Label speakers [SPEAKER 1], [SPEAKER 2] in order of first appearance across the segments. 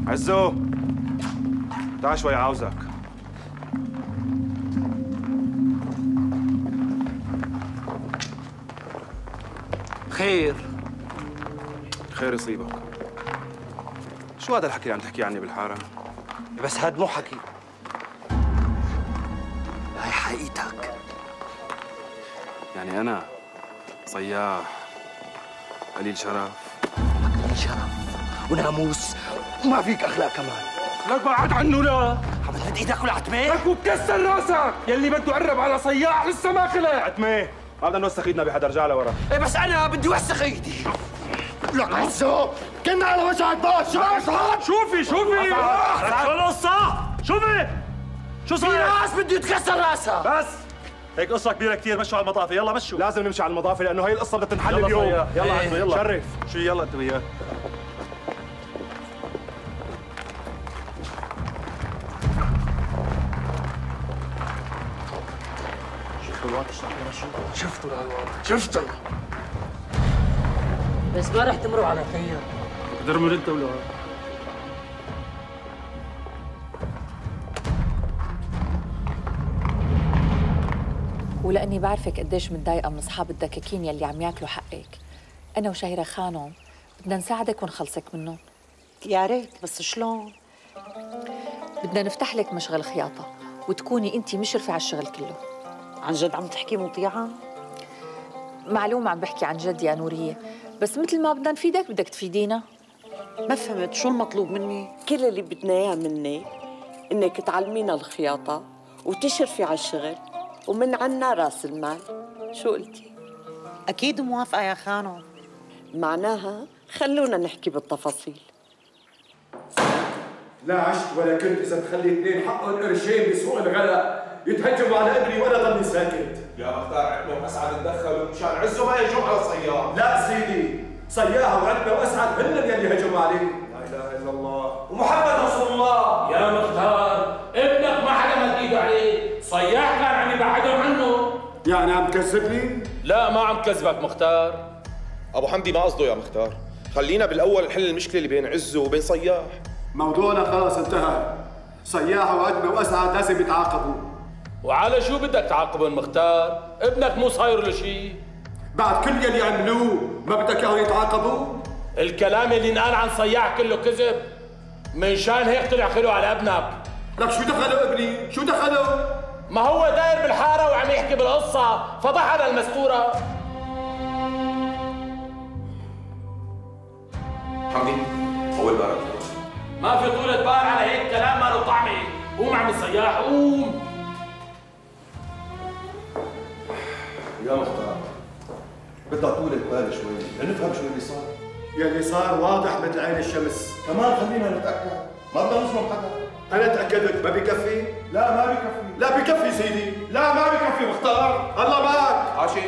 [SPEAKER 1] عزو تعال شوي عاوزك.
[SPEAKER 2] خير
[SPEAKER 1] يصيبك. شو هذا الحكي اللي عم تحكي عني بالحارة؟
[SPEAKER 2] بس هاد مو حكي، هاي حقيقتك.
[SPEAKER 1] يعني أنا صياح قليل شرف؟
[SPEAKER 2] قليل شرف وناموس وما فيك أخلاق كمان.
[SPEAKER 1] لك بعد عنه. لا
[SPEAKER 2] عم تمد إيدك ولا عتمة؟
[SPEAKER 1] لك وبكسر راسك يلي بده يقرب على صياح لسه ما خلق. عتمة ما بدنا نوسخ ايدنا بحدا، ارجع لورا.
[SPEAKER 2] ايه بس أنا بدي وسخ إيدي.
[SPEAKER 3] لك عزو كنا على وجهك باش.
[SPEAKER 1] شوفي
[SPEAKER 4] شو القصة؟ شو
[SPEAKER 2] في
[SPEAKER 4] صاير؟
[SPEAKER 2] ناس بده يتكسر راسها.
[SPEAKER 4] بس هيك قصة كبيرة كثير، مشوا على المطافي، يلا مشوا.
[SPEAKER 1] لازم نمشي على المضافة لأنه هي القصة بدها تنحل
[SPEAKER 4] يلا
[SPEAKER 1] اليوم.
[SPEAKER 4] صياح. يلا
[SPEAKER 2] إيه.
[SPEAKER 4] عزو يلا
[SPEAKER 1] شرف.
[SPEAKER 4] شو يلا أنت وياه.
[SPEAKER 2] شفتوا الواد اشتغل مشوا؟
[SPEAKER 3] شفتوا الواد شفتوا.
[SPEAKER 5] بس ما رح تمروا على خير.
[SPEAKER 4] درمر أنت ولا
[SPEAKER 6] ولأني بعرفك قديش متضايقة من أصحاب الدكاكين يلي عم ياكلوا حقك، أنا وشهيرة خانم بدنا نساعدك ونخلصك منهم.
[SPEAKER 5] يا ريت، بس شلون؟
[SPEAKER 6] بدنا نفتح لك مشغل خياطة وتكوني أنت مشرفة على الشغل كله.
[SPEAKER 5] عن جد عم تحكي مطيعة؟
[SPEAKER 6] معلومة عم بحكي عن جد يا نورية، بس مثل ما بدنا نفيدك بدك تفيدينا.
[SPEAKER 5] ما فهمت شو المطلوب مني؟
[SPEAKER 7] كل اللي بدنا اياه منك انك تعلمينا الخياطه وتشرفي على الشغل ومن عنا راس المال. شو قلتي؟
[SPEAKER 5] أكيد موافقة يا خانم.
[SPEAKER 7] معناها خلونا نحكي بالتفاصيل.
[SPEAKER 3] لا عشت ولا كنت اذا تخلي اثنين حقهم قرشين بسوق الغلا يتهجموا على ابني وانا ضلني ساكت.
[SPEAKER 1] يا مختار عتمة وأسعد تدخلوا مشان عزو ما يهجم على صياح.
[SPEAKER 3] لا سيدي، صياح وعتمة واسعد هن يلي هجموا عليه.
[SPEAKER 1] لا إله إلا الله
[SPEAKER 3] ومحمد رسول الله.
[SPEAKER 8] يا مختار ابنك ما حدا مد ايده عليه، صياح كان عم يبعدهم عنه.
[SPEAKER 3] يعني عم تكذبني؟
[SPEAKER 8] لا ما عم كذبك مختار.
[SPEAKER 9] ابو حمدي ما قصده يا مختار، خلينا بالاول نحل المشكله اللي بين عزو وبين صياح.
[SPEAKER 3] موضوعنا خلاص انتهى. صياح وعتمة واسعد لازم يتعاقبوا.
[SPEAKER 8] وعلى شو بدك تعاقبهم مختار؟ ابنك مو صاير له شيء.
[SPEAKER 3] بعد كل يلي عملوه ما بدك اياهم يتعاقبوا؟
[SPEAKER 8] الكلام اللي انقال عن صياح كله كذب، من شان هيك طلع خلو على ابنك.
[SPEAKER 3] لك شو دخلوا ابني؟ شو دخلوا؟
[SPEAKER 8] ما هو داير بالحاره وعم يحكي بالقصه، فضح على المستوره.
[SPEAKER 9] حمدي اول بارك.
[SPEAKER 8] ما في طولة بال على هيك كلام ما له طعمه. قوم عم الصياح قوم.
[SPEAKER 10] يا مختار بدها طولة بال شوي لنفهم شو اللي صار.
[SPEAKER 3] يلي صار واضح مثل عين الشمس.
[SPEAKER 10] كمان خلينا نتأكد، ما بدنا نظلم حدا.
[SPEAKER 3] أنا تأكدت. ما بكفي؟
[SPEAKER 10] لا ما بكفي.
[SPEAKER 3] لا بكفي سيدي. لا ما بكفي مختار. الله معك.
[SPEAKER 9] عاشي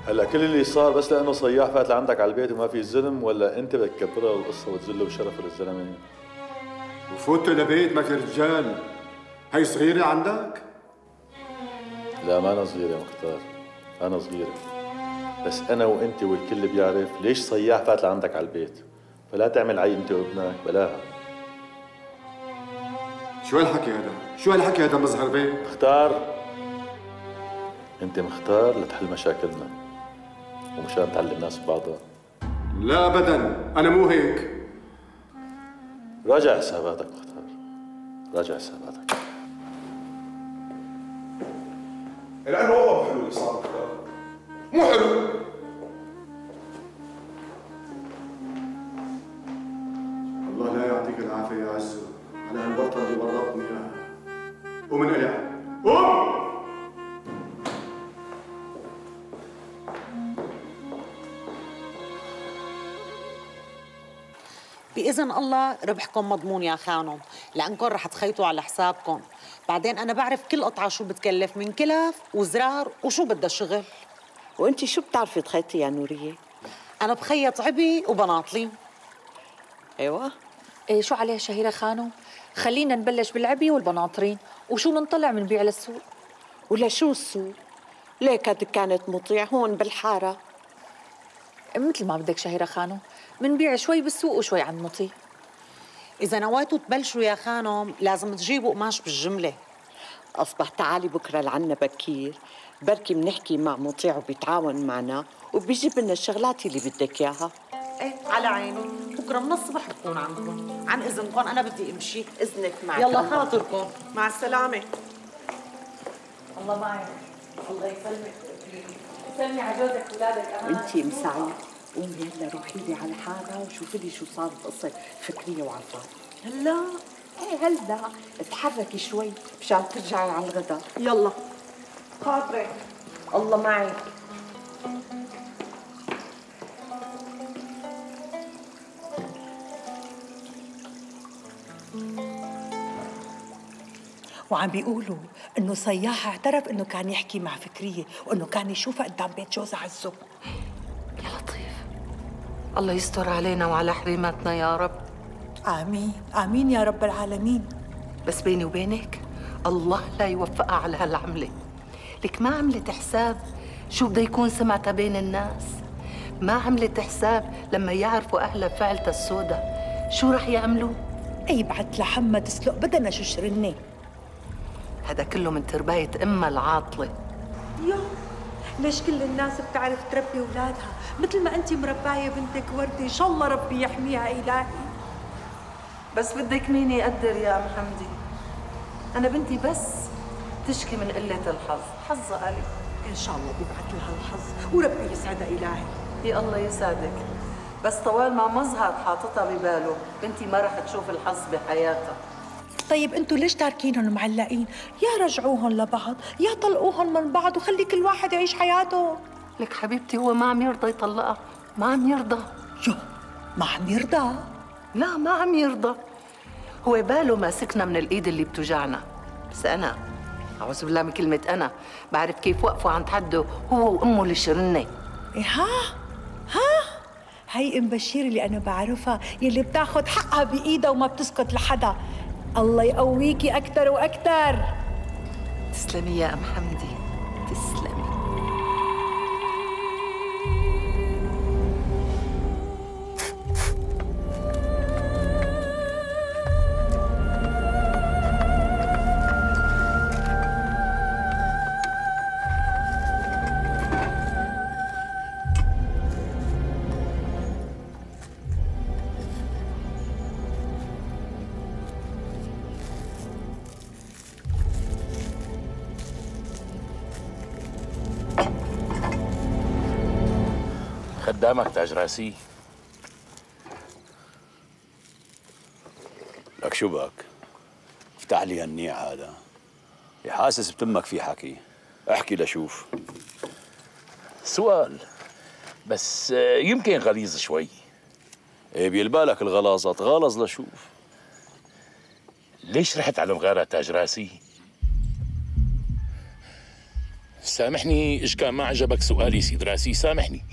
[SPEAKER 11] هلا كل اللي صار بس لانه صياح فات لعندك على البيت وما في زلم، ولا انت بدك تكبرها القصه وتذله بشرف للزلمه؟
[SPEAKER 3] وفوت لبيت ما في رجال. هي صغيرة عندك؟
[SPEAKER 11] لا ما انا صغير يا مختار، انا صغير، بس انا وانت والكل بيعرف ليش صياح فات لعندك على البيت، فلا تعمل عي انت وابنك بلاها.
[SPEAKER 3] شو هالحكي هذا؟ شو هالحكي هذا مظهر بيه؟
[SPEAKER 11] مختار انت مختار لتحل مشاكلنا ومشان تعلم الناس ببعضها.
[SPEAKER 3] لا ابدا، انا مو هيك.
[SPEAKER 11] راجع حساباتك مختار، راجع حساباتك.
[SPEAKER 9] لانه والله مو حلو اللي صار مختار، مو حلو.
[SPEAKER 3] الله لا يعطيك العافية يا عزو على هالورطة اللي ورطتني اياها. ومن قلع قوم.
[SPEAKER 5] بإذن الله ربحكم مضمون يا خانم، لأنكم رح تخيطوا على حسابكم. بعدين أنا بعرف كل قطعة شو بتكلف من كلف وزرار وشو بدها شغل.
[SPEAKER 7] وانت شو بتعرفي تخيطي يا نورية؟
[SPEAKER 5] أنا بخيط عبي وبناطلي.
[SPEAKER 7] ايوه.
[SPEAKER 6] إيه شو عليه شهيرة خانم؟ خلينا نبلش بالعبي والبناطرين وشو ننطلع منبيع للسوق.
[SPEAKER 7] ولا شو السوق؟ ليك كانت مطيع هون بالحارة.
[SPEAKER 6] مثل ما بدك شهيرة خانم، منبيع شوي بالسوق وشوي عند مطيع.
[SPEAKER 5] إذا نويتوا تبلشوا يا خانم لازم تجيبوا قماش بالجملة.
[SPEAKER 7] أصبح تعالي بكرة لعنا بكير، بركي منحكي مع مطيع وبيتعاون معنا وبيجيب لنا الشغلات اللي بدك إياها.
[SPEAKER 5] ايه على عيني، بكرة من الصبح بكون عندكم. عن إذنكم أنا بدي أمشي.
[SPEAKER 7] إذنك معك.
[SPEAKER 5] يلا خاطركم.
[SPEAKER 7] مع السلامة.
[SPEAKER 6] الله معك. الله يسلمك. سلمي على جوزك وولادك أمان.
[SPEAKER 7] وانتي مساعي قومي يلا روحي لي على حالة وشوفي لي شو صار بقصة فكرية وعفان. هلا ايه هلا اتحركي شوي مشان ترجعي على الغداء. يلا خاطرك. الله معك.
[SPEAKER 12] وعم بيقولوا انه صياح اعترف انه كان يحكي مع فكريه وانه كان يشوفها قدام بيت جوزها عزو.
[SPEAKER 13] يا لطيف، الله يستر علينا وعلى حريماتنا يا رب.
[SPEAKER 12] امين امين يا رب العالمين.
[SPEAKER 13] بس بيني وبينك الله لا يوفقها على هالعمله. لك ما عملت حساب شو بده يكون سمعتها بين الناس، ما عملت حساب لما يعرفوا اهلها فعلتها السودة شو رح يعملوا.
[SPEAKER 12] اي بعت لحمى تسلق بدنا شو شرني.
[SPEAKER 13] هذا كله من ترباية امها العاطله.
[SPEAKER 12] يو ليش كل الناس بتعرف تربي اولادها مثل ما انت مربايه بنتك وردة؟ ان شاء الله ربي يحميها الهي.
[SPEAKER 13] بس بدك مين يقدر يا ام حمدي؟ انا بنتي بس تشكي من قله الحظ، حظها قليل.
[SPEAKER 12] ان شاء الله بيبعث لها الحظ وربي يسعدها الهي.
[SPEAKER 13] يا الله يسعدك، بس طوال ما مظهر حاططها بباله بنتي ما رح تشوف الحظ بحياتها.
[SPEAKER 12] طيب انتوا ليش تاركينهم معلقين؟ يا رجعوهم لبعض يا طلقوهم من بعض وخلي كل واحد يعيش حياته.
[SPEAKER 13] لك حبيبتي هو ما عم يرضى يطلقها، ما عم يرضى.
[SPEAKER 12] يو ما عم يرضى؟
[SPEAKER 13] لا ما عم يرضى، هو باله ماسكنا من الايد اللي بتوجعنا. بس انا اعوذ بالله من كلمه انا بعرف كيف وقفوا عند حده هو وامه اللي شرني.
[SPEAKER 12] إيه ها هي ام بشير اللي انا بعرفها يلي بتاخذ حقها بايدها وما بتسكت لحدا. الله يقويكي اكثر واكثر.
[SPEAKER 13] تسلمي يا ام حمدي تسلمي.
[SPEAKER 8] خدامك تاج راسي.
[SPEAKER 14] لك شو بك؟ افتح لي هالنيع هذا. حاسس بتمك في حكي. احكي لشوف.
[SPEAKER 8] سؤال بس يمكن غليظ شوي.
[SPEAKER 14] ايه بيلبالك الغلاظة، تغالظ لشوف.
[SPEAKER 8] ليش رحت على المغارة تاج راسي؟ سامحني إيش كان ما عجبك سؤالي سيد راسي، سامحني.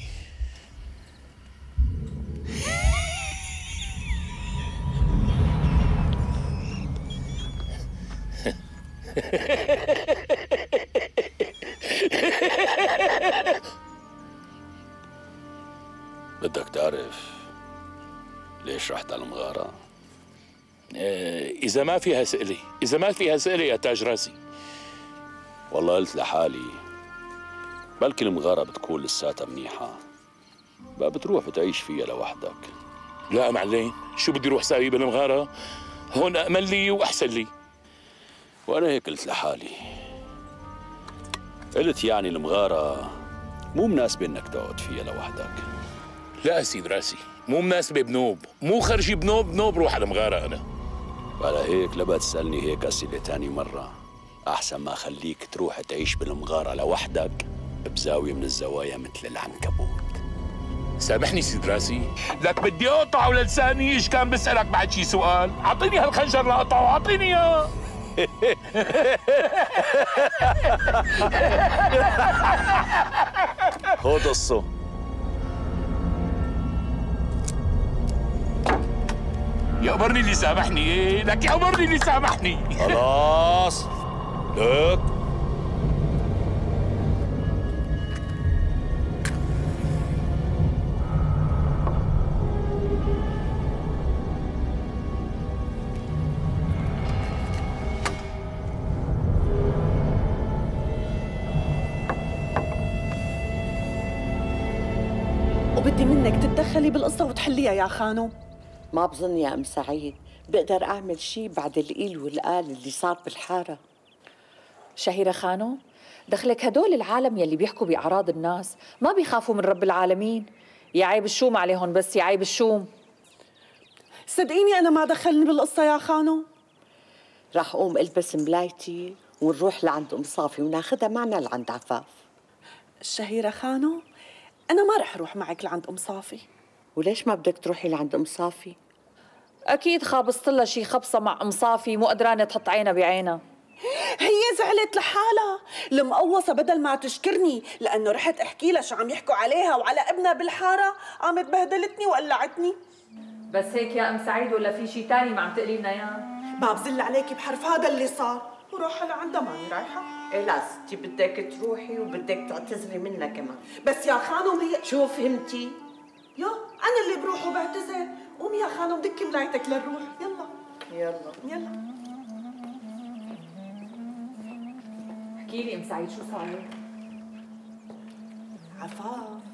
[SPEAKER 14] بدك تعرف ليش رحت على المغارة؟
[SPEAKER 8] إذا ما فيها سئلة، إذا ما فيها سئلة يا تاج راسي.
[SPEAKER 14] والله قلت لحالي بلكي المغارة بتكون لساتها منيحة، بقى بتروح بتعيش فيها لوحدك.
[SPEAKER 8] لا معلين، شو بدي روح ساوي بالمغارة؟ هون أأمن لي وأحسن لي.
[SPEAKER 14] وأنا هيك قلت لحالي، قلت يعني المغارة مو مناسبة إنك تقعد فيها لوحدك.
[SPEAKER 8] لا سيد راسي، مو مناسبة بنوب، مو خرجي بنوب روح على المغارة أنا.
[SPEAKER 14] وعلى هيك لبقى تسألني هيك أسئلة تاني مرة، أحسن ما خليك تروح تعيش بالمغارة لوحدك بزاوية من الزوايا مثل العنكبوت.
[SPEAKER 8] سامحني سيد راسي، لك بدي أقطعه لساني. إيش كان بسألك بعد شي سؤال؟ أعطيني هالخنجر لأقطعه، أعطيني إياه.
[SPEAKER 14] خذ قصه.
[SPEAKER 8] يأمرني اللي سامحني. إيه لك يأمرني اللي سامحني.
[SPEAKER 14] خلاص لك
[SPEAKER 7] بدي منك تتدخلي بالقصة وتحليها يا خانم.
[SPEAKER 13] ما بظن يا أم سعيد بقدر أعمل شي بعد القيل والقال اللي صار بالحارة.
[SPEAKER 6] شهيرة خانم، دخلك هدول العالم يلي بيحكوا بأعراض الناس ما بيخافوا من رب العالمين. يا عيب الشوم عليهم، بس يا عيب الشوم.
[SPEAKER 7] صدقيني أنا ما دخلني بالقصة يا خانم.
[SPEAKER 13] راح أقوم ألبس ملايتي ونروح لعند أم صافي وناخدها معنا لعند عفاف.
[SPEAKER 7] الشهيرة خانم، أنا ما رح أروح معك لعند أم صافي.
[SPEAKER 13] وليش ما بدك تروحي لعند أم صافي؟
[SPEAKER 6] أكيد خابصت لها شي خبصة مع أم صافي، مو قدرانة تحط عينها بعينها.
[SPEAKER 7] هي زعلت لحالها، المقوصة بدل ما تشكرني لأنه رحت أحكي لها شو عم يحكوا عليها وعلى ابنها بالحارة، قامت بهدلتني وقلعتني.
[SPEAKER 6] بس هيك يا أم سعيد ولا في شي تاني ما عم تقلي لنا إياه؟
[SPEAKER 7] ما بزل عليكي بحرف هذا اللي صار، وروحها لعندها ماني رايحة.
[SPEAKER 13] إيه لا ستي بدك تروحي وبدك تعتذري منها كمان.
[SPEAKER 7] بس يا خانم هي
[SPEAKER 13] شو فهمتي؟
[SPEAKER 7] يا أنا اللي بروح وبعتذر. قومي يا خانم دكي ملايتك للروح. يلا
[SPEAKER 13] يلا
[SPEAKER 7] يلا.
[SPEAKER 6] احكي لي أم سعيد شو صار؟
[SPEAKER 7] عفاف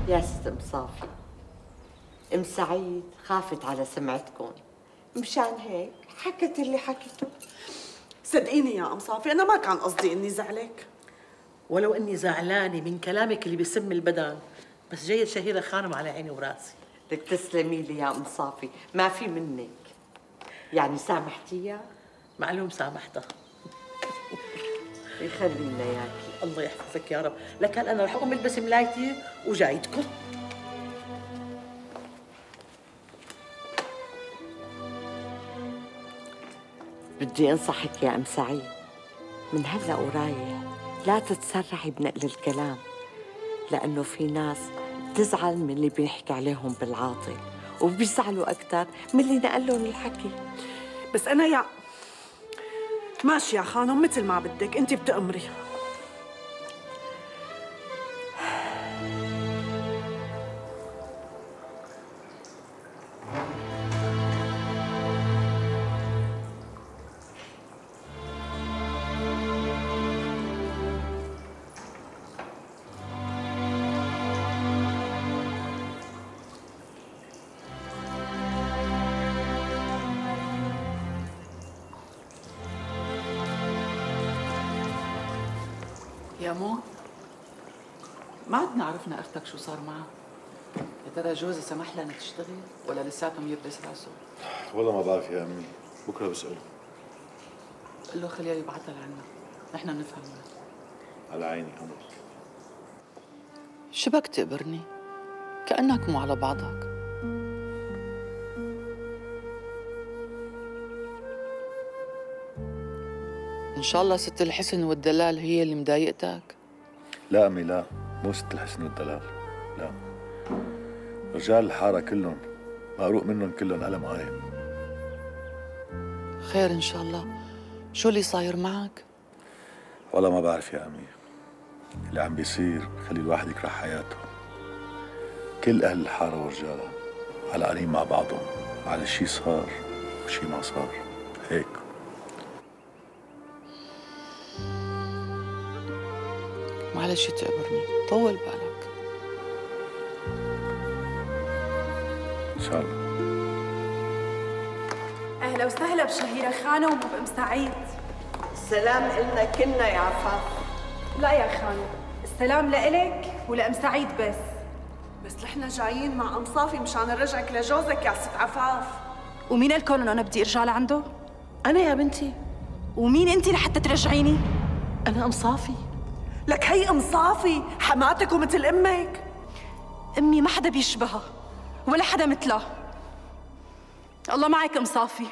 [SPEAKER 13] يا ست أم صافي، أم سعيد خافت على سمعتكم، مشان هيك حكت اللي حكته.
[SPEAKER 7] صدقيني يا أم صافي أنا ما كان قصدي إني زعلك،
[SPEAKER 15] ولو إني زعلانة من كلامك اللي بيسم البدن، بس جاية شهيرة خانم على عيني وراسي.
[SPEAKER 13] بدك تسلمي لي يا أم صافي، ما في منك. يعني سامحتيها؟
[SPEAKER 15] معلوم سامحتها.
[SPEAKER 13] يخلينا ياكي.
[SPEAKER 15] الله يحفظك يا رب. لكن أنا رح أقوم ألبس ملايتي وجايتكم.
[SPEAKER 13] بدي أنصحك يا أم سعيد، من هلأ ورايح لا تتسرعي بنقل الكلام، لأنه في ناس بتزعل من اللي بيحكي عليهم بالعاطل وبيزعلوا أكثر من اللي نقل لهم الحكي.
[SPEAKER 7] بس أنا يا ماشي يا خانم مثل ما بدك، أنت بتأمري.
[SPEAKER 16] يا مو، ما عدنا عرفنا اختك شو صار معها. يا ترى جوزها سمح لها انها تشتغل ولا لساتهم يبرس راسه؟
[SPEAKER 11] والله ما بعرف يا امي، بكره بسأله.
[SPEAKER 16] قل له خليه يبعثها لعنا، نحن بنفهم.
[SPEAKER 11] على عيني أمر.
[SPEAKER 16] شبك تقبرني؟ كأنك مو على بعضك. إن شاء الله ست الحسن والدلال هي اللي مضايقتك؟
[SPEAKER 11] لا أمي لا، مو ست الحسن والدلال، لا. رجال الحارة كلهم مقروق منهم كلهم ألم قايم.
[SPEAKER 16] خير إن شاء الله. شو اللي صاير معك؟
[SPEAKER 11] والله ما بعرف يا أمي. اللي عم بيصير بخلي الواحد يكره حياته. كل أهل الحارة ورجالها علقانين مع بعضهم على شي صار وشي ما صار، هيك.
[SPEAKER 16] معلش تقبرني، طول بالك.
[SPEAKER 11] إن شاء الله.
[SPEAKER 17] أهلا وسهلا بشهيرة خانم وبأم سعيد.
[SPEAKER 13] السلام إلنا كلنا يا عفاف.
[SPEAKER 17] لا يا خانم، السلام لإلك ولأم سعيد بس.
[SPEAKER 7] بس نحن جايين مع أم صافي مشان نرجعك لجوزك يا ست عفاف.
[SPEAKER 17] ومين قالكم إنه أنا بدي أرجع لعنده؟
[SPEAKER 7] أنا يا بنتي.
[SPEAKER 17] ومين أنتِ لحتى ترجعيني؟
[SPEAKER 7] أنا أم صافي. لك هي أم صافي حماتك ومثل أمك.
[SPEAKER 17] أمي ما حدا بيشبهها ولا حدا مثلها. الله معك أم صافي.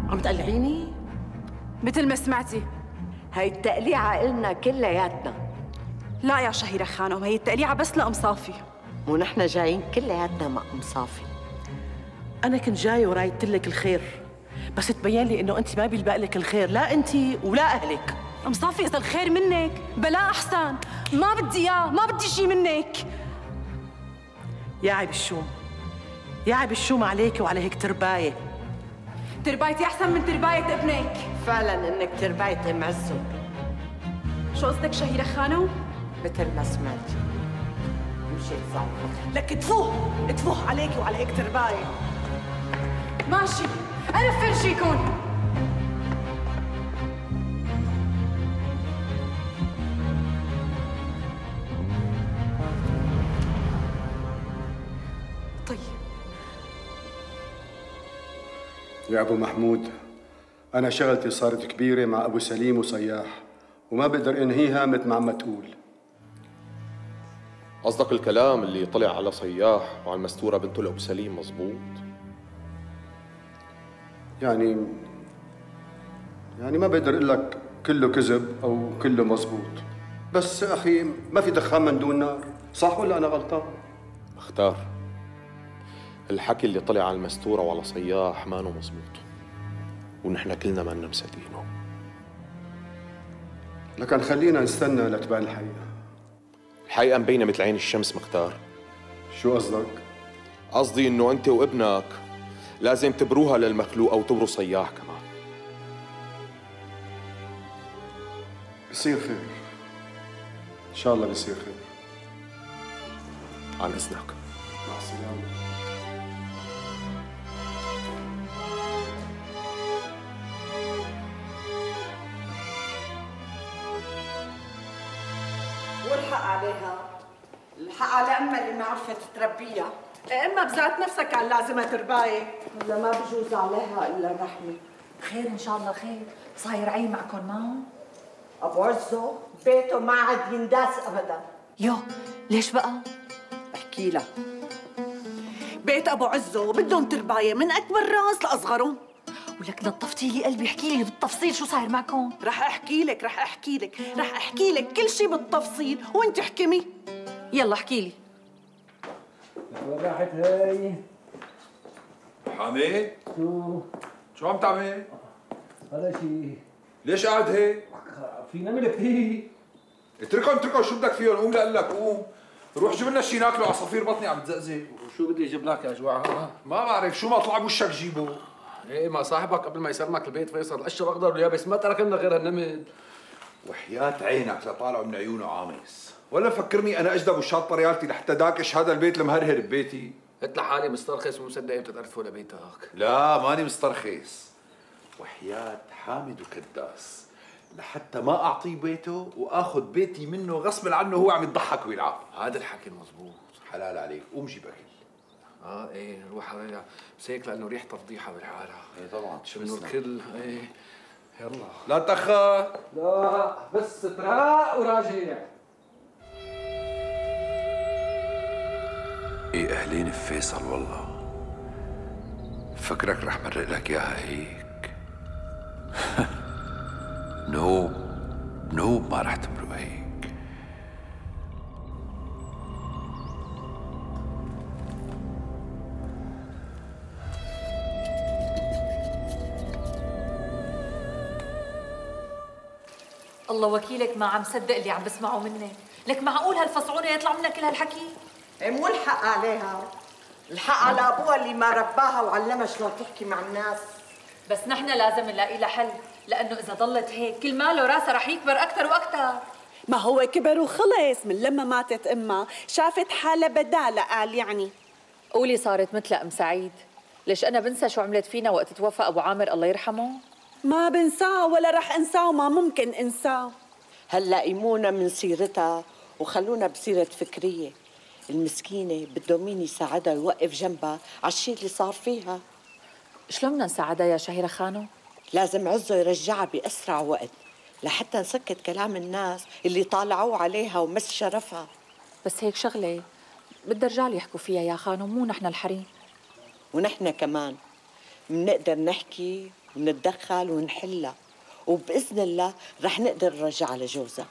[SPEAKER 7] عم تقلعيني؟
[SPEAKER 17] مثل ما سمعتي.
[SPEAKER 13] هاي التقليعة إلنا كلياتنا.
[SPEAKER 17] لا يا شهيرة خانم، هي التقليعة بس لأم صافي.
[SPEAKER 13] ونحن جايين كلياتنا مع أم صافي.
[SPEAKER 15] أنا كنت جاية ورايدت لك الخير، بس تبين لي إنه أنت ما بيلبق لك الخير، لا أنت ولا أهلك.
[SPEAKER 17] أم صافي إذا الخير منك بلا أحسن، ما بدي إياه، ما بدي شي منك.
[SPEAKER 15] يا عيب الشوم، يا عيب الشوم عليك وعلى هيك ترباية.
[SPEAKER 17] تربايتي أحسن من ترباية ابنك.
[SPEAKER 13] فعلا إنك ترباية أم عزو.
[SPEAKER 17] شو قصدك شهيرة خانم؟
[SPEAKER 13] مثل ما سمعتي. مشيت صعبة.
[SPEAKER 15] لك تفوه عليك وعلى هيك ترباية.
[SPEAKER 17] ماشي، أنا بفرجيكم. طيب
[SPEAKER 3] يا أبو محمود، أنا شغلتي صارت كبيرة مع أبو سليم وصياح، وما بقدر انهيها مثل ما عم تقول.
[SPEAKER 9] قصدك الكلام اللي طلع على صياح وعلى المستورة بنته لأبو سليم مزبوط؟
[SPEAKER 3] يعني ما بقدر اقول لك كله كذب او كله مزبوط، بس اخي ما في دخان من دون نار، صح ولا انا غلطان؟
[SPEAKER 9] مختار، الحكي اللي طلع على المستورة وعلى صياح مانو مزبوط، ونحن كلنا مانا مصدقينه.
[SPEAKER 3] لكن خلينا نستنى لتبان الحقيقة.
[SPEAKER 9] الحقيقة مبينة مثل عين الشمس مختار.
[SPEAKER 3] شو قصدك؟
[SPEAKER 9] قصدي انه انت وابنك لازم تبروها للمخلوق او تبروا صياح كمان.
[SPEAKER 3] بصير خير ان شاء الله، بصير خير.
[SPEAKER 9] عن اذنك.
[SPEAKER 3] مع السلامة.
[SPEAKER 7] والحق عليها، الحق على امها اللي ما عرفت تربيها.
[SPEAKER 15] اما بذات نفسك كان لازمها ترباية.
[SPEAKER 7] ولا ما بجوز عليها الا الرحمه.
[SPEAKER 6] خير ان شاء الله خير. صاير عي معكم معه؟
[SPEAKER 7] ابو عزو بيته ما عاد ينداس ابدا.
[SPEAKER 6] يو ليش بقى؟
[SPEAKER 7] احكي لك.
[SPEAKER 15] بيت ابو عزو بدهم ترباية من اكبر راس لاصغرهم.
[SPEAKER 6] ولك نطفتي لي قلبي، احكي لي بالتفصيل شو صاير معكم.
[SPEAKER 15] رح احكي لك كل شيء بالتفصيل وانت احكمي.
[SPEAKER 6] يلا احكي لي.
[SPEAKER 18] وين راحت هي؟
[SPEAKER 19] حميد شو عم تعمل؟
[SPEAKER 18] ولا شيء.
[SPEAKER 19] ليش قاعد هيك؟
[SPEAKER 18] في نمل كثير.
[SPEAKER 19] اتركهم شو بدك فيهم؟ قوم لقول لك قوم روح جيب لنا شيء ناكله، عصافير بطني عم تزقزق.
[SPEAKER 18] وشو بدي اجيب لك يا جوعها؟
[SPEAKER 19] ما بعرف شو ما طلع بوشك جيبه.
[SPEAKER 18] ايه ما صاحبك قبل ما يسلمك البيت فيصل القشر اخضر واليابس ما ترك لنا غير هالنمل.
[SPEAKER 19] وحياة عينك لطالعوا من عيونه عامس، ولا فكرني انا اجدب وشاطه ريالتي لحتى داكش هذا البيت المهرهر ببيتي.
[SPEAKER 18] قلت لحالي مسترخص ومصدق امتى تعرفوا لبيتك.
[SPEAKER 19] لا ماني مسترخص. وحياة حامد وكداس لحتى ما اعطيه بيته واخذ بيتي منه غصب عنه، هو عم يضحك ويلعب.
[SPEAKER 18] هذا الحكي المضبوط.
[SPEAKER 19] حلال عليك، قوم جيب اكل.
[SPEAKER 18] ايه روح عليها، بس هيك لانه ريحتها فضيحه بالحاله.
[SPEAKER 19] ايه طبعا
[SPEAKER 18] شنو الكل. ايه يلا
[SPEAKER 19] لا تأخر.
[SPEAKER 18] لا بس تراق وراجع.
[SPEAKER 19] ايه اهلين بفيصل والله، فكرك رح مرق لك اياها هيك. نوب ما رح تمرق هيك.
[SPEAKER 6] الله وكيلك ما عم صدق اللي عم بسمعه منك. لك معقول هالفصعونه يطلع منها كل هالحكي؟
[SPEAKER 7] مو الحق عليها، الحق على ابوها اللي ما رباها وعلمها شلون تحكي مع الناس.
[SPEAKER 6] بس نحن لازم نلاقي لها حل، لانه اذا ضلت هيك كل ماله راسها رح يكبر اكثر واكثر.
[SPEAKER 20] ما هو كبر وخلص، من لما ماتت امها شافت حالها بدالة. قال يعني
[SPEAKER 6] قولي صارت مثل ام سعيد. ليش انا بنسى شو عملت فينا وقت توفى ابو عامر الله يرحمه؟
[SPEAKER 20] ما بنساه ولا رح انساه وما ممكن انساه.
[SPEAKER 7] هلا قيمونا من سيرتها وخلونا بسيرة فكرية. المسكينة بده مين يساعدها ويوقف جنبها على الشيء اللي صار فيها.
[SPEAKER 6] شلون بدنا نساعدها يا شهيرة خانو؟
[SPEAKER 7] لازم عزو يرجعها بأسرع وقت لحتى نسكت كلام الناس اللي طالعوه عليها ومس شرفها.
[SPEAKER 6] بس هيك شغلة بدها رجال يحكوا فيها يا خانو، مو نحن الحريم.
[SPEAKER 7] ونحن كمان منقدر نحكي ونتدخل ونحلها، وبإذن الله رح نقدر نرجعها لجوزها.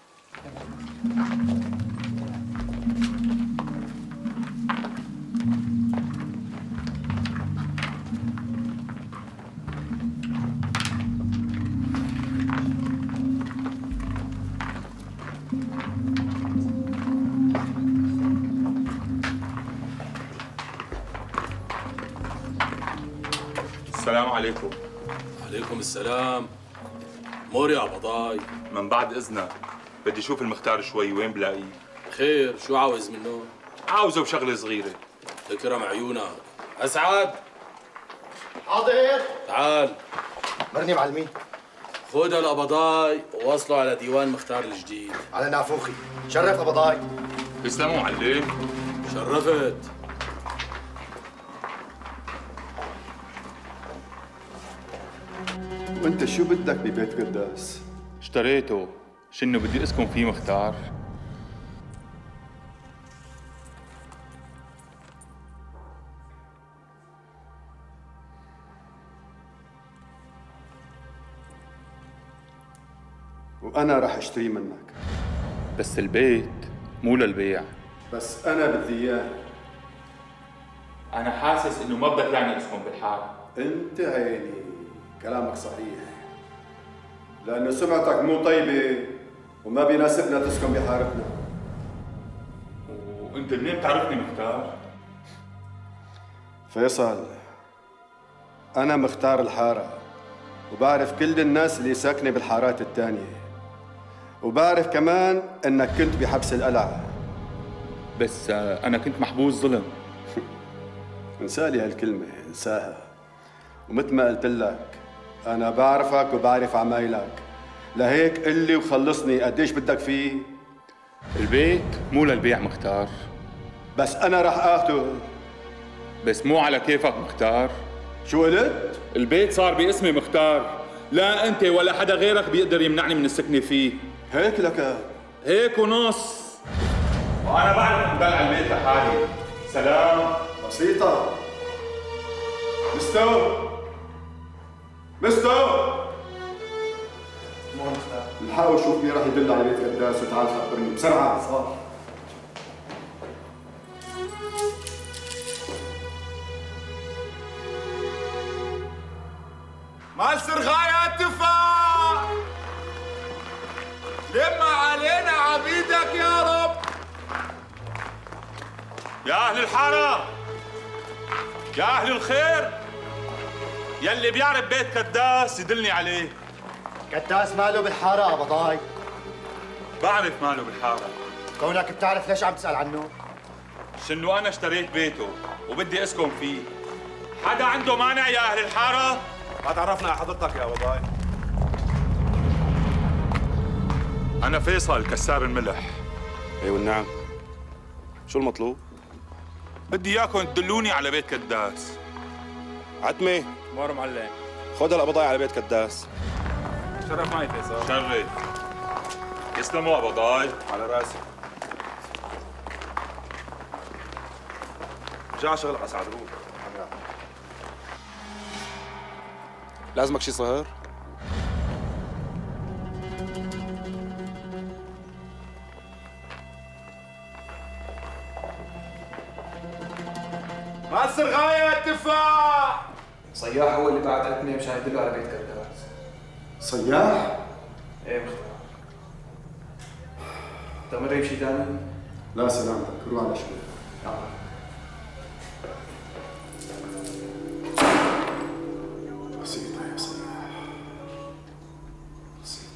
[SPEAKER 8] السلام عليكم.
[SPEAKER 21] عليكم السلام. مور يا قبضاي.
[SPEAKER 8] من بعد اذنك بدي اشوف المختار شوي، وين بلاقيه؟
[SPEAKER 21] خير، شو عاوز منه؟
[SPEAKER 8] عاوزه بشغله صغيره.
[SPEAKER 21] تكرم عيونك. اسعد.
[SPEAKER 2] حاضر.
[SPEAKER 21] تعال.
[SPEAKER 2] مرني معلمين.
[SPEAKER 21] خذ القبضاي ووصله على ديوان مختار الجديد.
[SPEAKER 2] على نافوخي. شرف قبضاي.
[SPEAKER 8] تسلموا معلم.
[SPEAKER 21] شرفت.
[SPEAKER 3] وانت شو بدك ببيت قداس؟
[SPEAKER 8] اشتريته، شنو بدي اسكن فيه مختار؟
[SPEAKER 3] وأنا رح أشتري منك.
[SPEAKER 8] بس البيت مو للبيع.
[SPEAKER 3] بس أنا بدي إياه.
[SPEAKER 8] أنا حاسس إنه ما بدك يعني اسكن بالحارة.
[SPEAKER 3] أنت عيني، كلامك صحيح. لأنه سمعتك مو طيبة وما بيناسبنا تسكن بحارتنا.
[SPEAKER 8] وأنت منين بتعرفني مختار؟
[SPEAKER 3] فيصل، أنا مختار الحارة وبعرف كل الناس اللي ساكنة بالحارات التانية، وبعرف كمان انك كنت بحبس القلعة.
[SPEAKER 8] بس انا كنت محبوس ظلم.
[SPEAKER 3] انسالي هالكلمة، انساها. ومثل ما قلت لك انا بعرفك وبعرف عمايلك، لهيك قل لي وخلصني قديش بدك فيه؟
[SPEAKER 8] البيت مو للبيع مختار.
[SPEAKER 3] بس انا رح اخده.
[SPEAKER 8] بس مو على كيفك مختار.
[SPEAKER 3] شو قلت؟
[SPEAKER 8] البيت صار باسمي مختار، لا انت ولا حدا غيرك بيقدر يمنعني من السكنة فيه.
[SPEAKER 3] هيك لك؟
[SPEAKER 8] هيك ونص. وانا بعرف انبلع البيت لحالي. سلام.
[SPEAKER 3] بسيطة. مستو الحقوا شوف مين راح يدل على بيت قداس وتعال خبرني بسرعة. صار.
[SPEAKER 19] مال سرغاية التفاح، لم علينا عبيدك يا رب.
[SPEAKER 8] يا أهل الحارة، يا أهل الخير، يلي بيعرف بيت قداس يدلني عليه.
[SPEAKER 2] قداس ماله بالحارة قبضاي؟
[SPEAKER 8] بعرف ماله بالحارة.
[SPEAKER 2] كونك بتعرف ليش عم تسأل عنه؟
[SPEAKER 8] شنو أنا اشتريت بيته وبدي أسكن فيه. حدا عنده مانع يا أهل الحارة؟
[SPEAKER 10] ما تعرفنا على حضرتك يا قبضاي.
[SPEAKER 8] أنا فيصل كسار الملح.
[SPEAKER 1] ايوه نعم. شو المطلوب؟
[SPEAKER 8] بدي إياكم تدلوني على بيت قداس.
[SPEAKER 1] عتمة.
[SPEAKER 4] مور معلم.
[SPEAKER 1] خذ القبضاي على بيت قداس.
[SPEAKER 4] شرف معي فيصل.
[SPEAKER 8] شرف. يسلموا قبضاي.
[SPEAKER 10] على راسي. جا شغل اسعد روح.
[SPEAKER 1] لازمك شي صهر؟
[SPEAKER 19] مال سرغاية التفاح.
[SPEAKER 18] صياح هو اللي بعت عتمة مشان يدله على بيت قداس.
[SPEAKER 3] صياح؟
[SPEAKER 18] ايه مختار. انت مري بشي ثاني؟
[SPEAKER 3] لا سلامتك، روح على شوي. بسيطة يا صياح، بسيطة.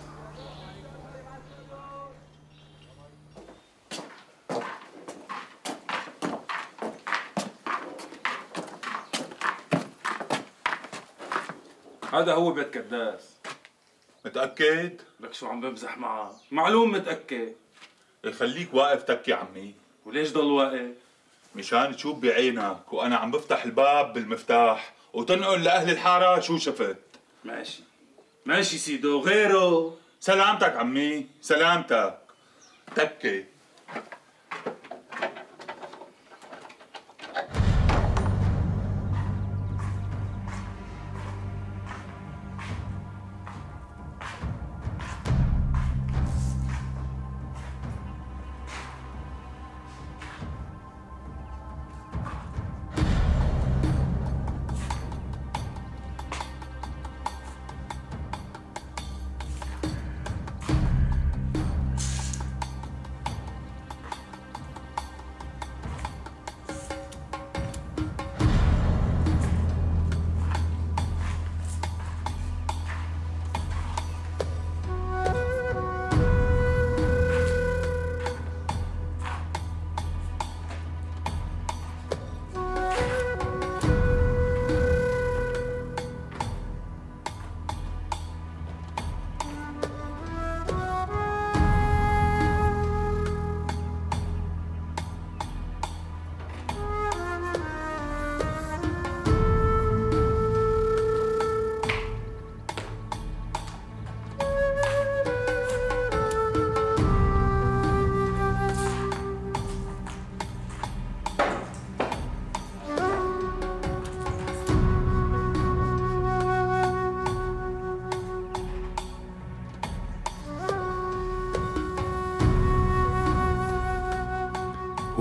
[SPEAKER 4] هذا هو بيت قداس.
[SPEAKER 8] متأكد؟
[SPEAKER 4] لك شو عم بمزح معه؟ معلوم متأكد.
[SPEAKER 8] خليك واقف تكي عمي.
[SPEAKER 4] وليش ضل واقف؟
[SPEAKER 8] مشان تشوف بعينك وانا عم بفتح الباب بالمفتاح وتنقل لاهل الحاره شو شفت.
[SPEAKER 4] ماشي ماشي سيدو، غيره.
[SPEAKER 8] سلامتك عمي، سلامتك. تكي.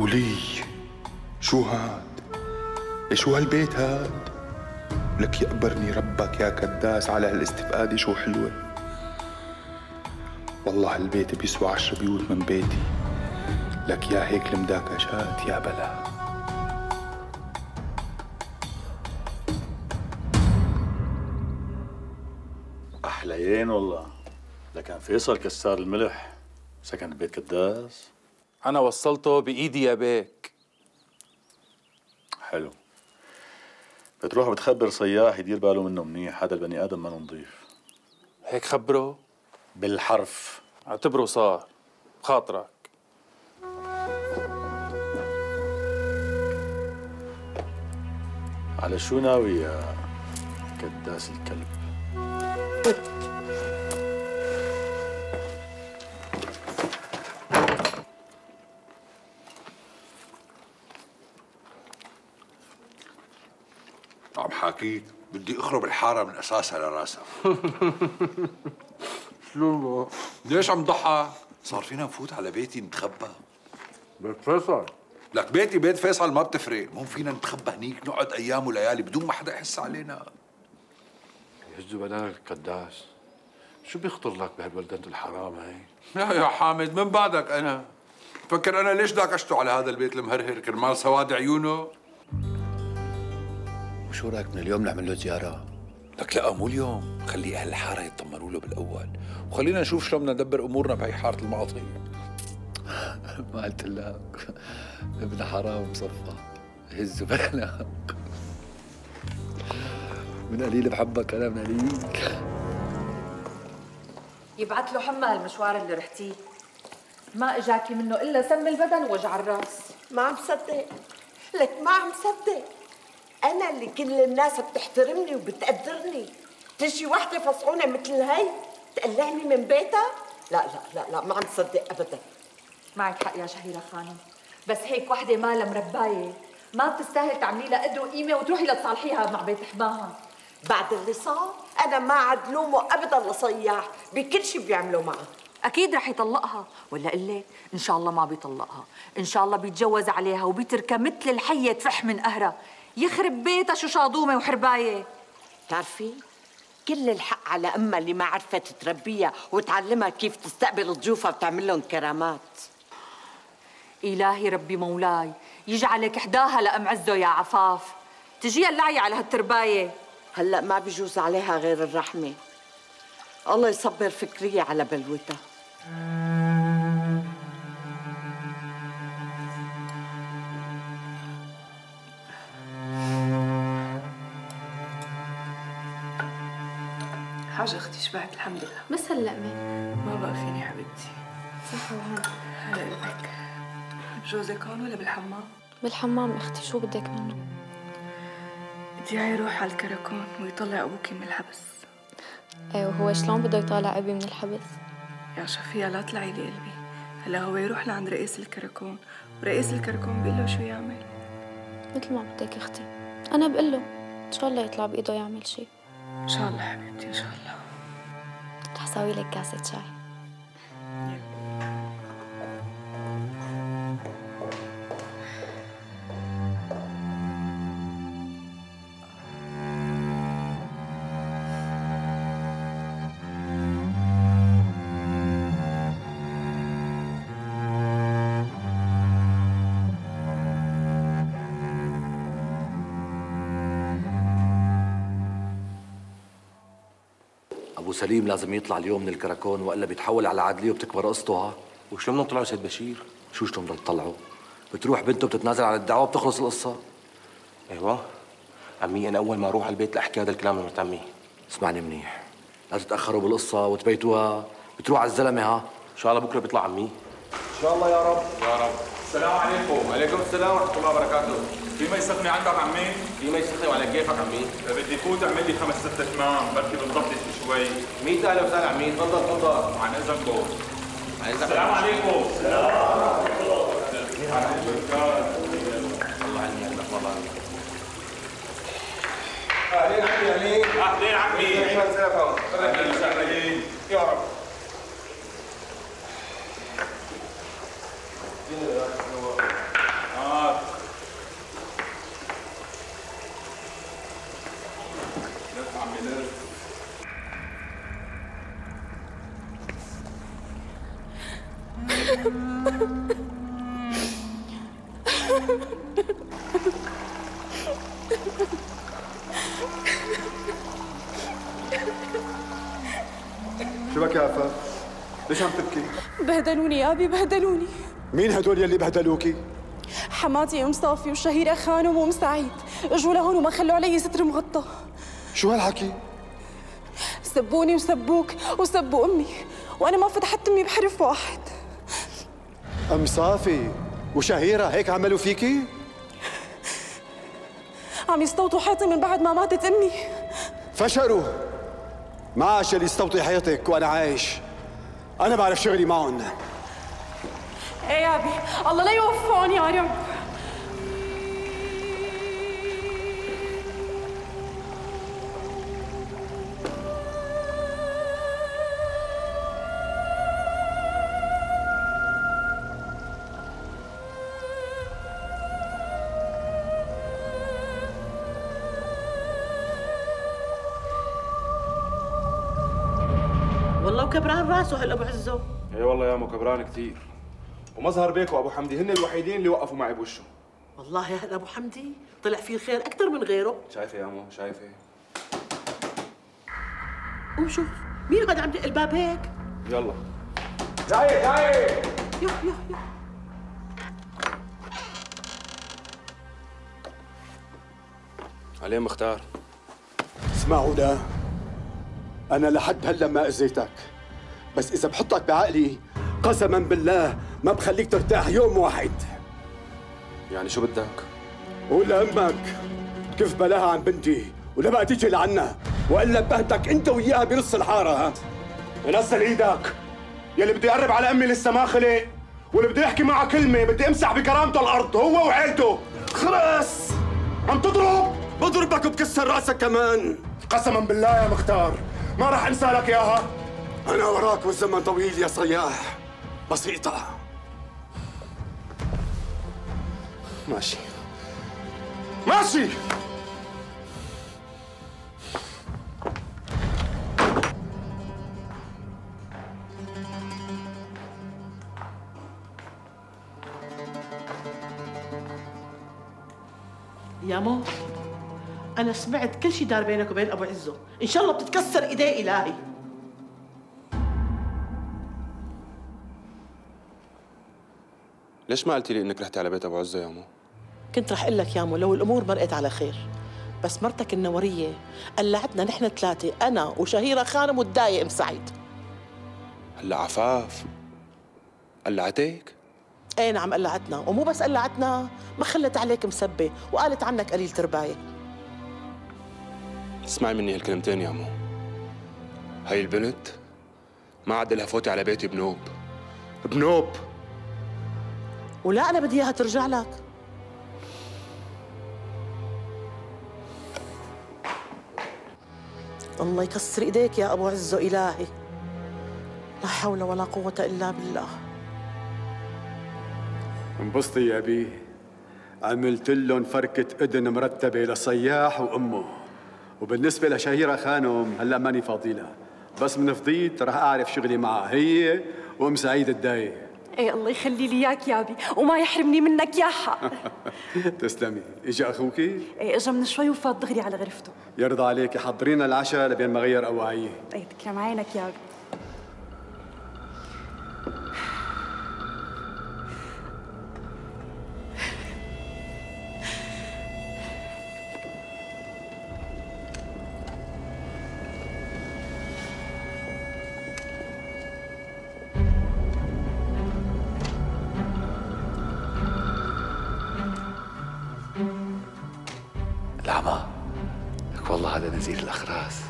[SPEAKER 5] ولي شو هاد؟ شو هالبيت هاد؟ لك يقبرني ربك يا كداس على هالاستفقادة شو حلوة. والله هالبيت بيسوى 10 بيوت من بيتي. لك يا هيك المداكشات يا بلا.
[SPEAKER 11] أحليين والله. لكن فيصل كسار الملح سكن ببيت كداس.
[SPEAKER 4] أنا وصلته بإيدي يا بيك.
[SPEAKER 11] حلو. بتروح بتخبر صياح يدير باله منه منيح، هذا البني آدم ما نظيف.
[SPEAKER 4] هيك خبره؟
[SPEAKER 11] بالحرف.
[SPEAKER 4] اعتبره صار بخاطرك.
[SPEAKER 11] على شو ناوي يا كداس الكلب؟
[SPEAKER 19] عم حاكيك بدي اخرب الحاره من اساسها لراسها.
[SPEAKER 18] شو
[SPEAKER 19] ليش عم تضحك؟ صار فينا نفوت على بيتي نتخبى.
[SPEAKER 18] بيت فيصل؟
[SPEAKER 19] لك بيتي بيت فيصل ما بتفرق، مو فينا نتخبى هنيك نقعد ايام وليالي بدون ما حدا يحس علينا.
[SPEAKER 18] يهزوا بدنك القداس، شو بيخطر لك بهالبلدة الحرام هي؟
[SPEAKER 19] يا حامد من بعدك انا؟ فكر انا ليش داكشته على هذا البيت المهرهر كرمال سواد عيونه؟
[SPEAKER 2] وشو رايك من اليوم نعمل له زيارة؟
[SPEAKER 19] لك لا مو اليوم، خلي اهل الحاره يطمنوا له بالاول، وخلينا نشوف شلون بدنا ندبر امورنا بهي حاره المعاطي.
[SPEAKER 2] ما قلت لك ابن حرام مصفى هزوا بخناق. من قليل بحبك انا من قليل.
[SPEAKER 6] يبعت له حمى هالمشوار اللي رحتيه، ما اجاكي منه الا سم البدن ووجع الراس.
[SPEAKER 7] ما عم صدق، لك ما عم صدق. أنا اللي كل الناس بتحترمني وبتقدرني، تجي وحدة فصعونة مثل هي تقلعني من بيتها؟ لا لا لا لا ما عم صدق أبدا.
[SPEAKER 6] معك حق يا شهيرة خانم، بس هيك وحدة مالها مرباية ما بتستاهل تعملي لها قد وقيمة وتروحي لتصالحيها مع بيت حماها.
[SPEAKER 7] بعد اللي صار أنا ما عاد لومه أبدا لصياح بكل شيء بيعملوا معه.
[SPEAKER 6] أكيد رح يطلقها، ولا قلك إن شاء الله ما بيطلقها، إن شاء الله بيتجوز عليها وبيتركها مثل الحية تفح من قهرها. يخرب بيتها شو شاضومة وحرباية.
[SPEAKER 7] بتعرفي كل الحق على أمها اللي ما عرفت تربيها وتعلمها كيف تستقبل ضيوفها وتعمل لهم كرامات.
[SPEAKER 6] إلهي ربي مولاي يجعلك إحداها لأم عزه يا عفاف، تجيها اللعي على هالترباية.
[SPEAKER 7] هلأ ما بيجوز عليها غير الرحمة. الله يصبر فكرية على بلوتها.
[SPEAKER 22] حاجة أختي شبعت الحمد لله.
[SPEAKER 17] بس هلا
[SPEAKER 22] ما بقى فيني حبيبتي.
[SPEAKER 17] صح وهنا.
[SPEAKER 22] هلا قلبك. جوزك هون ولا بالحمام؟
[SPEAKER 17] بالحمام اختي، شو بدك منه؟
[SPEAKER 22] بدي يروح على الكراكون ويطلع أبوكي من الحبس.
[SPEAKER 17] ايه وهو شلون بده يطالع أبي من الحبس؟
[SPEAKER 22] يا شفية لا تلعي لي قلبي، هلا هو يروح لعند رئيس الكراكون ورئيس الكراكون بيقول له شو يعمل؟
[SPEAKER 17] مثل ما بدك اختي، أنا بقول له إن شاء الله يطلع بإيده يعمل شيء.
[SPEAKER 22] إن شاء الله حبيبتي إن شاء الله.
[SPEAKER 17] رح سوي لك كاسة شاي.
[SPEAKER 23] أبو سليم لازم يطلع اليوم من الكراكون وإلا بيتحول على عدلية وبتكبر قصته. ها
[SPEAKER 2] وشو بدنا نطلعوا سيد بشير؟
[SPEAKER 23] شو بدنا نطلعوا؟ بتروح بنته بتتنازل عن الدعوة بتخلص القصة.
[SPEAKER 2] ايوه عمي، انا اول ما اروح على البيت لاحكي هذا الكلام لمرت عمي.
[SPEAKER 23] اسمعني منيح، لا تتأخروا بالقصة وتبيتوها، بتروح على الزلمة. ها
[SPEAKER 2] ان شاء الله بكره بيطلع عمي.
[SPEAKER 4] ان شاء الله يا رب يا رب. السلام عليكم. وعليكم السلام ورحمه الله وبركاته. في ما يسخني عندك عمي؟
[SPEAKER 2] في ما يسخني وعلى كيفك عمي.
[SPEAKER 4] بدي فوت اعمل لي 5 6 شمام بركي بنضبط شوي.
[SPEAKER 2] 100 اهلا وسهلا عمي، تفضل تفضل.
[SPEAKER 4] عن اذنكم.
[SPEAKER 2] السلام عليكم.
[SPEAKER 4] السلام ورحمه الله.
[SPEAKER 2] الله عني قلبك والله.
[SPEAKER 4] اهلين عمي. اهلين عمي. اهلا وسهلا يا رب. عمي نرف.
[SPEAKER 3] شو بك يا عفاف؟ ليش عم تبكي؟
[SPEAKER 17] بهدلوني يا ابي، بهدلوني.
[SPEAKER 3] مين هدول يلي بهدلوكي؟
[SPEAKER 17] حماتي ام صافي وشهيرة خانم وام سعيد اجوا لهون وما خلوا علي ستر مغطى.
[SPEAKER 3] شو هالحكي؟
[SPEAKER 17] سبوني وسبوك وسبوا امي، وانا ما فتحت امي بحرف واحد.
[SPEAKER 3] ام صافي وشهيرة هيك عملوا فيكي؟
[SPEAKER 17] عم يستوطوا حيطي من بعد ما ماتت امي.
[SPEAKER 3] فشروا. ما عاش اللي يستوطي حيطك وانا عايش. انا بعرف شغلي معهم.
[SPEAKER 17] ايه يا ابي، الله لا يوفقهم يا رب.
[SPEAKER 15] والله وكبران راسه هالابو عزو.
[SPEAKER 1] اي والله يا مو كبران كثير. ومظهر بيك وابو حمدي هن الوحيدين اللي وقفوا معي بوشه.
[SPEAKER 15] والله يا هالابو حمدي طلع فيه الخير اكثر من غيره.
[SPEAKER 1] شايفه يا مو، شايفه؟
[SPEAKER 15] قوم شوف مين هذا عم يدق الباب هيك؟
[SPEAKER 1] يلا جاي جاي.
[SPEAKER 15] يو يو يو.
[SPEAKER 1] عليه مختار.
[SPEAKER 3] اسمعوا لا، أنا لحد هلا ما أذيتك، بس إذا بحطك بعقلي قسما بالله ما بخليك ترتاح يوم واحد.
[SPEAKER 1] يعني شو بدك؟
[SPEAKER 3] قول لأمك كيف بلاها عن بنتي ولا بقى تيجي لعنا، وإلا بهتك أنت وياها بنص الحارة. ها؟
[SPEAKER 1] نزل إيدك، يلي بده يقرب على أمي لسه ما خلق، واللي بده يحكي معها كلمة بدي أمسح بكرامته الأرض هو وعيلته.
[SPEAKER 3] خلص
[SPEAKER 1] عم تضرب؟
[SPEAKER 3] بضربك وبكسر راسك كمان.
[SPEAKER 1] قسما بالله يا مختار ما راح انسى لك اياها.
[SPEAKER 3] انا وراك والزمن طويل يا صياح. بسيطة.
[SPEAKER 1] ماشي ماشي.
[SPEAKER 15] يا مو أنا سمعت كل شيء دار بينك وبين أبو عزو، إن شاء الله بتتكسر إيديه إلهي.
[SPEAKER 1] ليش ما قلتي لي إنك رحتي على بيت أبو عزة يا مو؟
[SPEAKER 15] كنت رح أقول لك يا مو لو الأمور مرقت على خير، بس مرتك النورية قلعتنا نحن ثلاثة، أنا وشهيرة خانم والداية أم سعيد.
[SPEAKER 1] هلا عفاف قلعتك؟
[SPEAKER 15] ايه نعم قلعتنا، ومو بس قلعتنا، ما خلت عليك مسبة وقالت عنك قليل ترباية.
[SPEAKER 1] اسمعي مني هالكلمتين يا مو، هاي البنت ما عاد لها فوتي على بيتي بنوب بنوب.
[SPEAKER 15] ولا أنا بدي إياها ترجع لك. الله يكسر إيديك يا أبو عزو إلهي. لا حول ولا قوة إلا بالله.
[SPEAKER 3] انبسطي يا بي، عملت لهم فركة إذن مرتبة لصياح وأمه، وبالنسبة لشهيرة خانم هلا ماني فاضي لها، بس من فضيت رح أعرف شغلي معها هي وأم سعيد الداية.
[SPEAKER 17] ايه الله يخلي لي اياك يا ابي وما يحرمني منك يا حق.
[SPEAKER 3] تسلمي. اجى أخوكي؟
[SPEAKER 17] ايه اجى من شوي وفات دغري على غرفته.
[SPEAKER 3] يرضى عليكي حضرينا العشاء لبين ما غير أواعيه.
[SPEAKER 17] ايه تكرم عينك يا ابي.
[SPEAKER 23] العمى لك والله هذا نزيل الأخراس.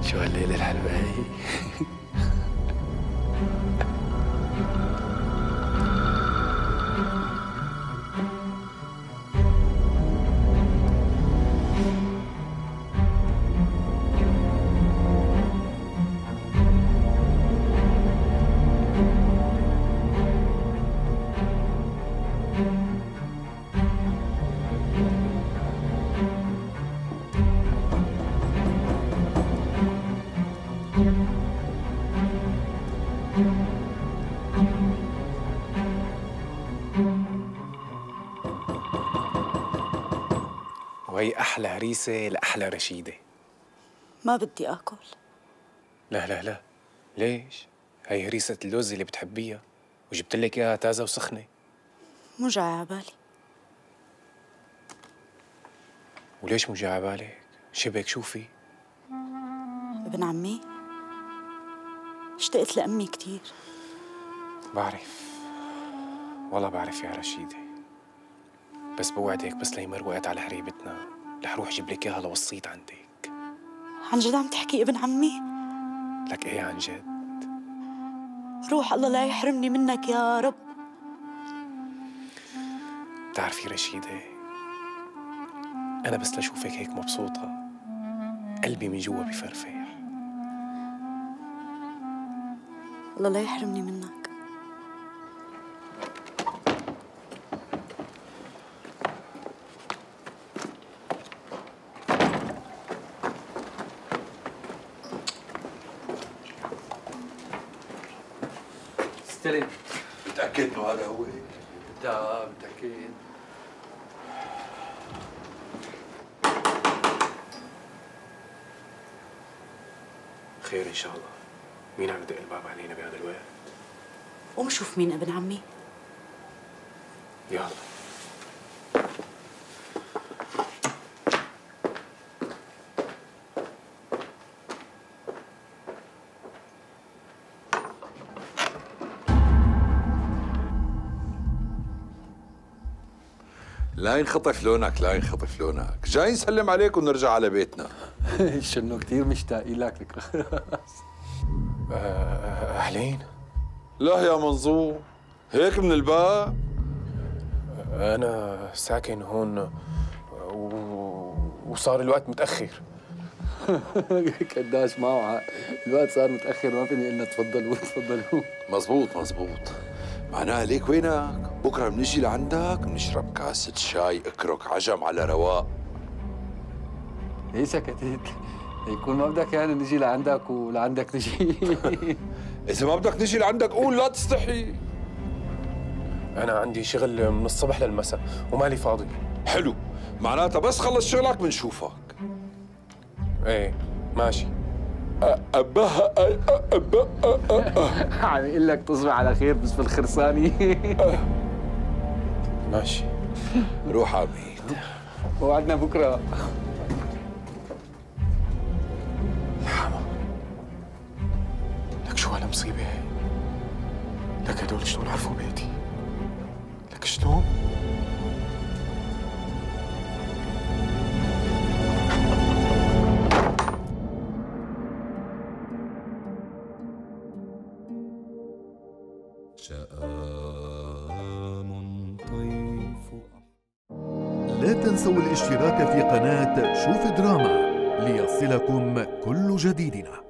[SPEAKER 23] شو هالليلة الحلوة هي.
[SPEAKER 12] وهي أحلى هريسة لأحلى رشيدة.
[SPEAKER 7] ما بدي آكل.
[SPEAKER 12] لا لا لا، ليش؟ هي هريسة اللوز اللي بتحبيها، وجبت لك إياها تازة وسخنة.
[SPEAKER 7] مو جاي عبالي.
[SPEAKER 12] وليش مو جاي عبالك؟ شبك شوفي.
[SPEAKER 7] ابن عمي، اشتقت لأمي كتير.
[SPEAKER 12] بعرف، والله بعرف يا رشيدة، بس بوعدك بس ليمر وقت على هريبتنا رح روح جيب لك اياها لوصيت عندك.
[SPEAKER 7] عن جد عم تحكي ابن عمي؟
[SPEAKER 12] لك ايه عن جد.
[SPEAKER 7] روح الله لا يحرمني منك يا رب.
[SPEAKER 12] بتعرفي رشيدة، أنا بس لشوفك هيك مبسوطة قلبي من جوا بفرفح.
[SPEAKER 7] الله لا يحرمني منك.
[SPEAKER 19] استلم. متأكد إنه هذا هو؟ متأكد.
[SPEAKER 12] خير إن شاء الله. مين عم يدق الباب علينا بهذا الوقت؟
[SPEAKER 7] قوم شوف مين ابن عمي.
[SPEAKER 12] يلا.
[SPEAKER 19] لا ينخطف لونك، لا ينخطف لونك، جاي نسلم عليك ونرجع على بيتنا.
[SPEAKER 23] شنو كثير مشتاقين لك الخراس.
[SPEAKER 12] أهلين؟
[SPEAKER 19] لا يا منظور، هيك من الباب؟
[SPEAKER 12] أنا ساكن هون وصار الوقت متأخر.
[SPEAKER 23] قداش معه الوقت صار متأخر، ما فيني إلا تفضلوا تفضلوا.
[SPEAKER 19] مزبوط مزبوط، معناها ليك وينك؟ بكره بنجي لعندك بنشرب كاسة شاي اكرك عجم على رواق.
[SPEAKER 23] ليش سكتت؟ يكون ما بدك يعني نجي لعندك ولعندك نجي.
[SPEAKER 19] إذا ما بدك نجي لعندك قول، لا تستحي.
[SPEAKER 12] أنا عندي شغل من الصبح للمساء ومالي فاضي.
[SPEAKER 19] حلو، معناتها بس خلص شغلك بنشوفك.
[SPEAKER 12] ايه ماشي.
[SPEAKER 23] عم يقول لك تصبح على خير بس في الخرساني.
[SPEAKER 12] ماشي.
[SPEAKER 19] روح عميد.
[SPEAKER 23] وعدنا بكره.
[SPEAKER 12] الحما، لك شو هالمصيبة هي؟ لك هدول شلون عرفوا بيتي؟ لك شلون؟
[SPEAKER 14] لا تنسوا الاشتراك في قناة شوف دراما ليصلكم كل جديدنا.